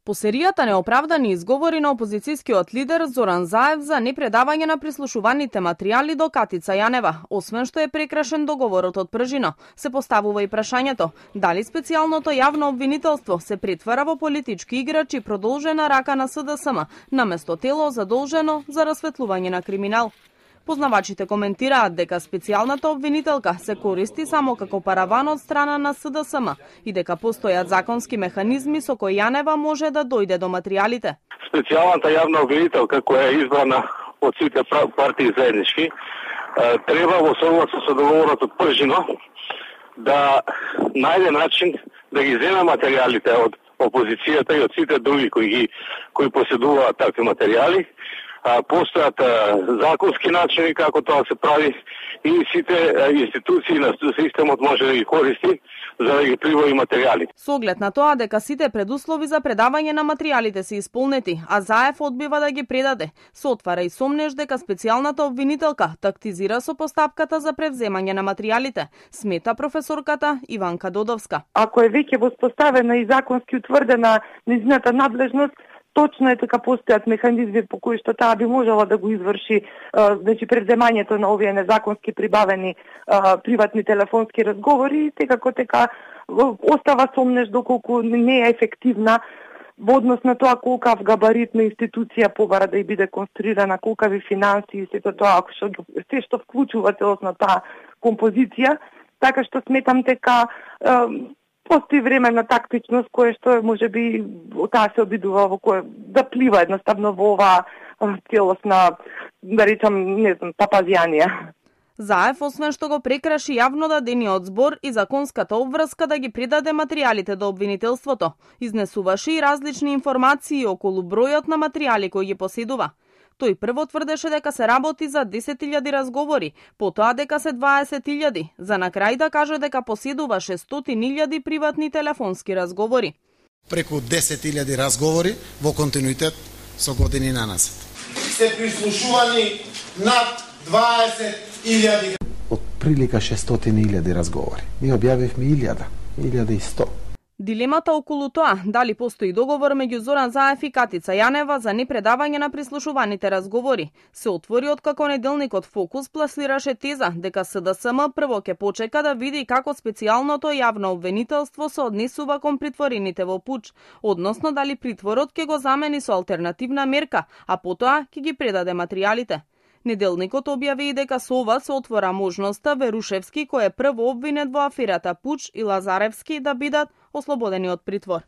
По серијата неоправдани изговори на опозицијскиот лидер Зоран Заев за непредавање на прислушуваните материјали до Катица Јанева, освен што е прекрашен договорот од Пржино, се поставува и прашањето дали специјалното јавно обвинителство се претвара во политички играч и продолжена рака на СДСМ, наместо тело задолжено за расветлување на криминал. Познавачите коментираат дека специјалната обвинителка се користи само како параван од страна на СДСМ и дека постојат законски механизми со кои Јанева може да дојде до материјалите. Специјалната јавна обвинителка која е избрана од сите партии заеднички треба во согласно со договорот од Пржино да најде начин да ги зема материјалите од опозицијата и од сите други кои поседуваат такви материјали. Постојат законски начини како тоа се прави и сите институции на системот може да ги користи за да ги прибави материјали. Со оглед на тоа дека сите предуслови за предавање на материјалите се исполнети, а Заев одбива да ги предаде, се отвара и сомнеж дека специјалната обвинителка тактизира со постапката за превземање на материјалите, смета професорката Иванка Додовска. Ако е веќе воспоставена и законски утврдена нејзината надлежност, точно е дека постојат механизми по кои што таа би можела да го изврши, значи превземањето на овие незаконски прибавени приватни телефонски разговори, како остава сомнеж доколку не е ефективна во однос на тоа колкав габарит на институција побара да и биде конструирана, колкави финанси и сето тоа се што вклучува целосна таа композиција, така што сметам дека постои време на тактичност кое што можеби таа се обидува во кое да плива едноставно во оваа целосна, да речам, не знам, папазијанија. Заев, освен што го прекраши јавно дадениот збор и законската обврска да ги предаде материјалите до обвинителството, изнесуваше и различни информации околу бројот на материјали кои ги поседува. Тој прво тврдеше дека се работи за 10.000 разговори, потоа дека се 20.000, за на крај да каже дека поседуваше 100.000 приватни телефонски разговори. Преку 10.000 разговори во континуитет со години наназад. Се прислушувани над 20.000. Од прилика 600.000 разговори. Ние објавивме 1.100. Дилемата околу тоа дали постои договор меѓу Зоран Заев и Катица Јанева за непредавање на прислушуваните разговори се отвори откако неделникот Фокус пласираше теза дека СДСМ прво ќе почека да види како специјалното јавно обвинителство се однесува кон притворените во пуч, односно дали притворот ќе го замени со алтернативна мерка, а потоа ќе ги предаде материјалите. Неделникот објави и дека со ова се отвора можноста Верушевски, кој е прво обвинет во аферата Пуч, и Лазаревски да бидат ослободени од притвор.